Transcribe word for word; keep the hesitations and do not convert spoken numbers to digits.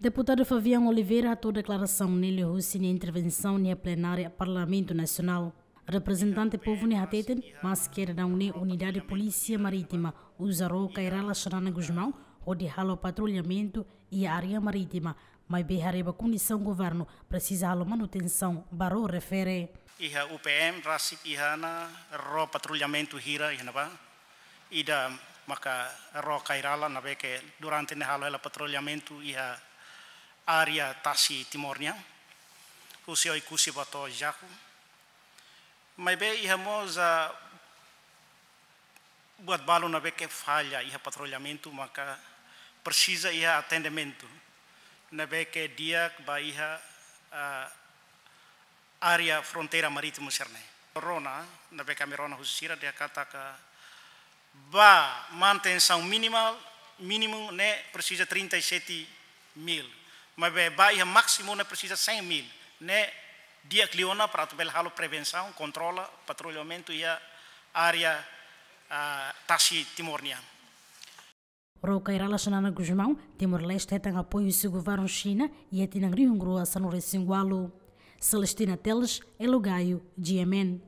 Deputadu Fabiano Oliveira hato'o deklarasaun ne'e liuhusi nia intervensaun iha plenária Parlamentu Nasionál. Reprezentante povu ne'e hateten, maske daudaun ne'e Unidade Polísia Marítima uza ró Kay Rala Xanana Gusmão hodi halo patrullamentu iha área marítima, maibé haree ba kondisaun governu presiza halo manutensaun ba ró refere. Iha U P M rasik iha ona ró patrullamentu hira iha ne'ebá. Ida maka ró Kay Rala ne'ebé ke durante ne'e halo hela patrullamentu iha área tasi Timor nian, husi Oekusi ba to'o Jaco. Maibé iha mós, ah, buat balu ne'ebé ke falla iha patrullamentu, maka presiza iha atendimentu ne'ebé ke di'ak ba iha, ah, área fronteira marítima sira-ne'e. Rona, ne'ebé ke ami rona husi sira, dehan katak ba manutensaun minimal, mínimu ne'e presiza trinta e sete mil. Maibé ba iha másimu ne'e presiza cem mil. Ne'e di'ak liu ona para atu bele halo prevensaun, kontrola, patrullamentu iha área, ah, tasi Timor nian. Ró Kay Rala Xanana Gusmão, Timor-Leste hetan apoiu husi governu Xina iha tinan rihun rua sanulu-resin-ualu. Celestina Teles, Elo Gayo, G M N.